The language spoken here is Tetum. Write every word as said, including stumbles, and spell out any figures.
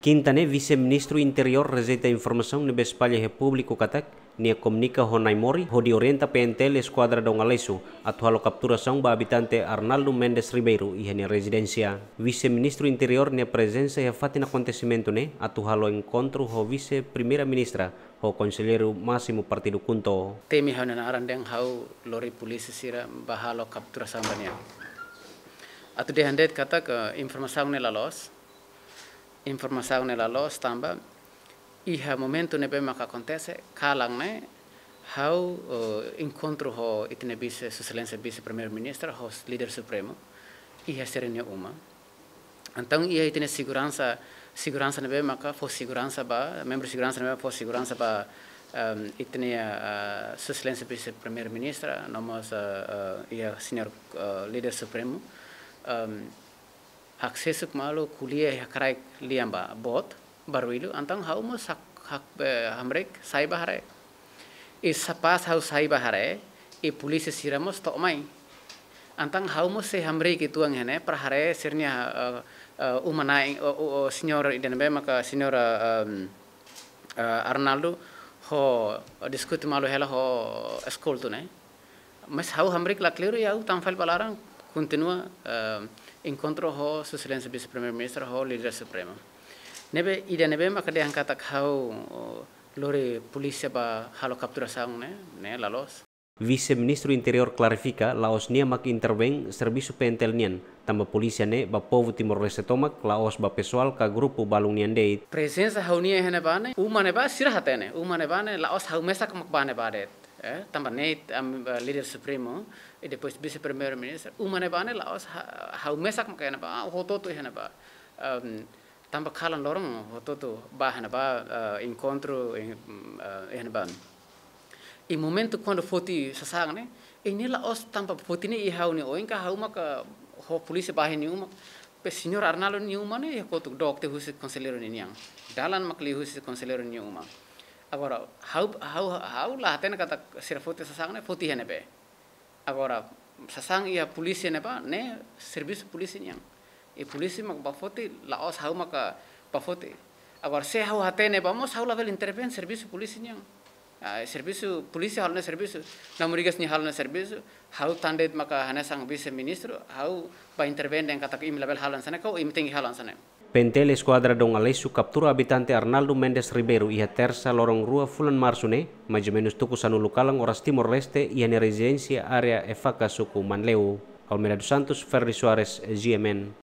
Kinta ne'e, Vise-Ministru Interiór rejeita informasaun ne'ebé espalla iha públiku katak nia komunika ho Naimori hodi orienta P N T L Eskuadra Dom Aleixo atu halo kapturasaun ba abitante Arnaldo Mendes Ribeiro iha nia rezidénsia. Vise-Ministru Interiór nia prezensa iha fatin akontesimentu ne'e atu halo enkontru ho Vise-Primeira-Ministra ho Konselleiru Másimu Partidu KHUNTO. Temi ha'u-nia naran dehan ha'u lori polísia sira ba halo kapturasaun ba nia. Atu dehan de'it katak informasaun ne'e la loos, informasaun ne'e la loos tanba iha momentu ne'ebé maka akontese, kalan ne'e ha'u, eh, enkontru ho ita-nia Vise, Sua Exelénsia Vise-Primeiru-Ministru, ho Líder Supremu, iha sira-nia uma. Entaun iha ita-nia seguransa, seguransa ne'ebé maka fó seguransa ba, membru seguransa ne'ebé fó seguransa ba, ehm, ita-nia, eh, Sua Exelénsia Vise-Primeiru-Ministru, no mós, eh, eh, iha Señór, eh, Líder Supremu, ehm, haksesuk malu ko'alia iha kraik lian ba, boot, barullu, entaun ha'u mós hak, hak, eh, hamriik sai ba haree. I kapás ha'u sai ba haree, i polísia sira mós to'o mai. Entaun ha'u mós sei hamriik uitoan iha ne'e, para haree sira-nia, eh, eh, uma-na'in, o, o, o, señór ida ne'ebé maka señór, eh, em, eh, Arnaldo, ho diskute malu hela ho eskoltu ne'e. Mas ha'u hamriik la kleur i ha'u tama fali ba laran, kontinua, eh, enkontru ho Sua Exelénsia Vise-Primeiru-Ministru ho Líder Supremu. Ne'ebé ida ne'ebé maka dehan katak ha'u, eh, lori polísia ba halo kapturasaun ne'e, ne'e la loos. Vise-Ministru Interiór klarifika, la'ós nia mak intervein servisu P N T L nian, tanba polísia ne'e ba povu Timor-Leste tomak, la'ós ba pesoál ka grupu balun nian de'it. Prezensa ha'u-nia iha ne'ebá ne'e, uma ne'ebá sira hatene, uma ne'ebá ne'e la'ós ha'u mesak mak bá ne'ebá de'it. Eh, tanba ne'e, am, eh, Líder Supremu, i depois Vise-Primeiru-Ministru, uma ne'ebá ne'e la'ós ha-, ha'u mesak mak iha ne'ebá, ah, hotu-hotu iha ne'ebá. Em, tanba kalan loron hotu-hotu bá iha ne'ebá, eh, enkontru, em, eh, iha ne'ebá. I momentu kuandu foti sasán ne'e, i ne'e la'ós tanba foti ne'e iha ha'u-nia oin ka ha'u maka ho polísia bá iha nia uma, maibé señór Arnaldo nia uma ne'e iha kotuk dook tiha husi konselleiru ninian. Dalan mak liu husi konselleiru nia uma. Agora, ha'u, ha'u, ha'u la hatene katak sira foti sasán ne'e foti iha ne'ebé. Agora, sasán iha polísia ne'ebá, ne'e servisu polísia nian. I polísia mak bá foti, la'ós ha'u maka bá foti. Agora, se ha'u hatene bá mós ha'u labele intervein servisu polísia nian. Ah, servisu polísia halo nia servisu, Naimori Garcia nia halo nia servisu, ha'u tan de'it maka hanesan vise-ministru, ha'u bá intervein dehan katak imi labele halo hanesan ne'e, ka imi tenke halo hanesan ne'e. P N T L Eskuadra Dom Aleixo kaptura abitante Arnaldo Mendes Ribeiro iha Tersa loron rua fulan Marsu ne'e, mais ou menus tuku sanulu kalan oras Timor-Leste, iha nia rezidénsia área Efaka, suku Manleu. Almeida dos Santos, Ferdi Soares, G M N.